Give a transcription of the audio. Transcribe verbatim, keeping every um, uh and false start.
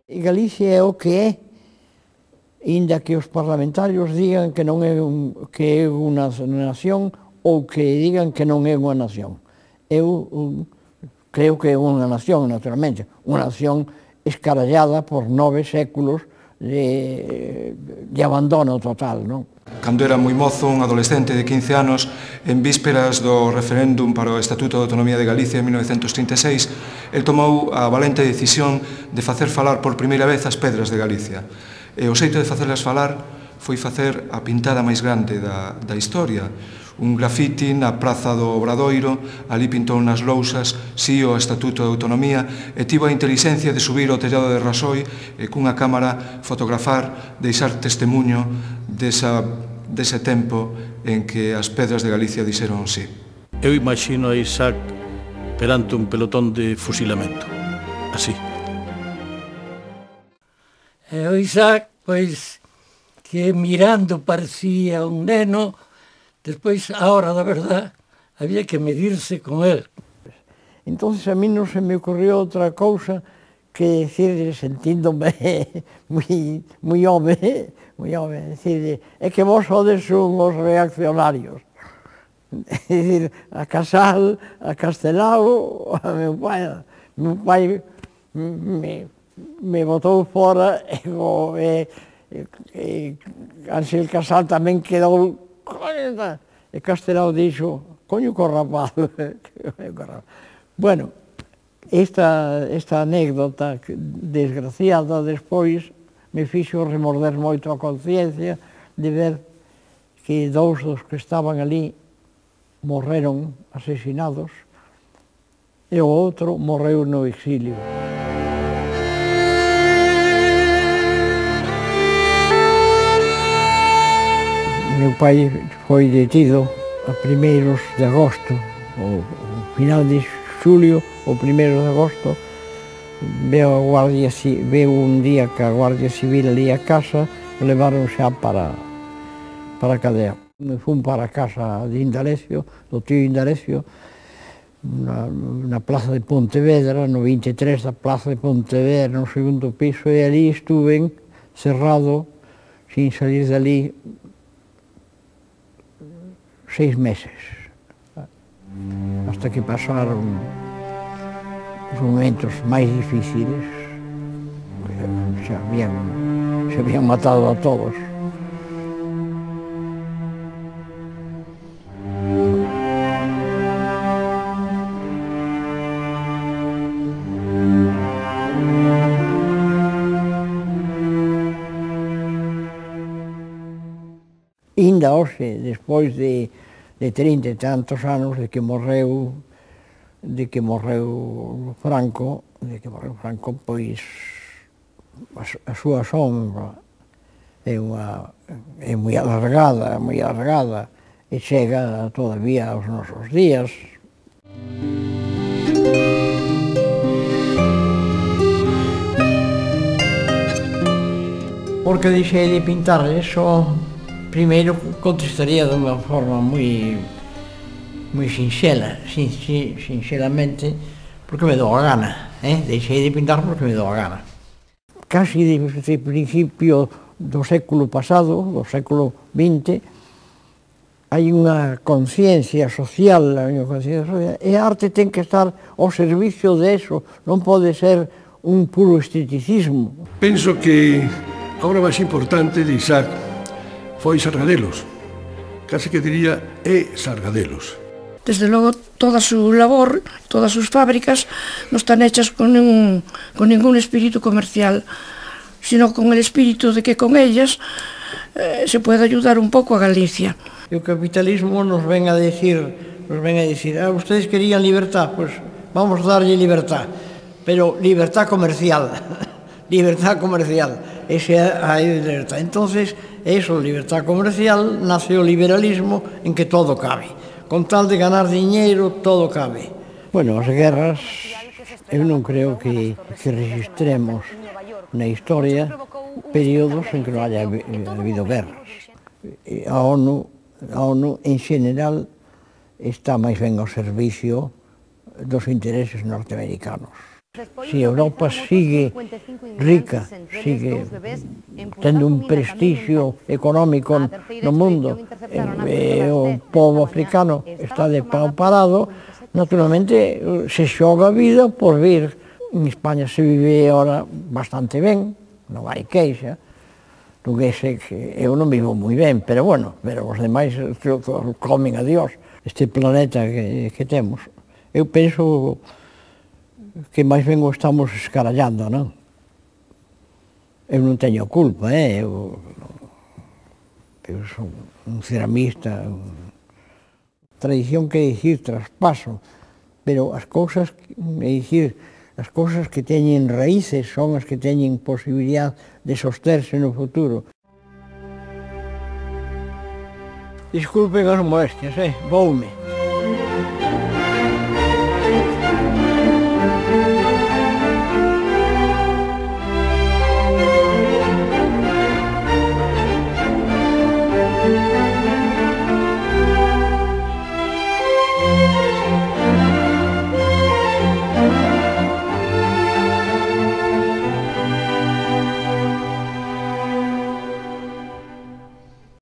Galicia é o que é, inda que os parlamentarios digan que non é, un, que é unha nación ou que digan que non é unha nación. Eu um, creo que é unha nación, naturalmente, unha nación escarallada por nove séculos de, de abandono total, non? Cando era moi mozo, un adolescente de quince anos, en vísperas do referéndum para o Estatuto de Autonomía de Galicia en mil novecentos trinta e seis, el tomou a valente decisión de facer falar por primeira vez as pedras de Galicia. E o xeito de facerlas falar foi facer a pintada máis grande da, da historia. Un grafiti na Praza do Obradoiro, ali pintou nas lousas si o Estatuto de Autonomía e tivo a intelixencia de subir ao tellado de Rasoi e cunha cámara fotografar, deixar testemunho desa, dese tempo en que as pedras de Galicia dixeron sí. Eu imagino a Isaac perante un pelotón de fusilamento, así. E o Isaac, pois, que mirando parecía un neno, despois, a hora da verdad, había que medirse con él. Entonces a mí non se me ocurrió outra cousa que decir, sentíndome moi, moi home, moi home, decir, é que vos sodes unhos reaccionarios. É dicir, a Casal, a Castelao, a meu pai, meu pai me, me botou fora e, e, e Ángel Casal tamén quedou. E Castelao dixo, coño co rapaz. Bueno, esta, esta anécdota desgraciada despois me fixo remorder moito a conciencia de ver que dous dos que estaban ali morreron asesinados e o outro morreu no exilio. Meu pai foi detido a primeiros de agosto, o final de xulio, o primeiro de agosto, veo a Guardia Civil, veo un día que a Guardia Civil ali a casa, levaron xa para, para a cadea. Me fun para a casa de Indalecio, do tío Indalecio, na, na plaza de Pontevedra, no vinte e tres da plaza de Pontevedra, no segundo piso, e ali estuve cerrado, sin salir dali, seis meses, hasta que pasaron os momentos máis difíciles, se habían, se habían matado a todos. Inda hoxe, despois de, de trinta e tantos anos de que morreu, de que morreu Franco, de que morreu Franco, pois a, a súa sombra é unha é moi alargada, moi alargada e chega todavía aos nosos días. Porque deixei de pintar eso. Primeiro contestaría de unha forma moi moi sinxela, sin, sin, sinxelamente, porque me dou a gana, eh? Deixei de pintar porque me dou a gana. Casi de, de principio do século pasado, do século vinte, hai unha conciencia social, hai unha conciencia social, e a arte ten que estar ao servicio de eso, non pode ser un puro esteticismo. Penso que a obra máis importante de Isaac foi Sargadelos, case que diría é Sargadelos. Desde logo, toda a súa labor, todas as súas fábricas, non están hechas con ningún, con ningún espírito comercial, sino con el espírito de que con ellas eh, se pode ayudar un pouco a Galicia. E o capitalismo nos ven a decir, nos ven a decir, ah, ustedes querían libertad, pues vamos a darlle libertad, pero libertad comercial, libertad comercial, ese hai libertad. Entonces, eso, libertad comercial, nace o liberalismo en que todo cabe. Con tal de ganar diñeiro, todo cabe. Bueno, as guerras, eu non creo que, que registremos na historia períodos en que non haya habido guerras. A ONU, a ONU, en general, está máis ben ao servicio dos intereses norteamericanos. Si Europa sigue rica, sigue tendo un prestigio económico no mundo, e o povo africano está de pau parado, naturalmente se xoga a vida por vir. En España se vive ahora bastante ben, non hai queixa, non é que eu non vivo moi ben, pero bueno, pero os demais comen a Dios. Este planeta que, que temos, eu penso que máis ben o estamos escarallando, non? Eu non teño culpa, eh? eu, eu son un ceramista, un... tradición que dicir traspaso, pero as cousas, é dicir, as cousas que teñen raíces son as que teñen posibilidad de sosterse no futuro. Disculpen as molestias, eh? Voume. Thank you.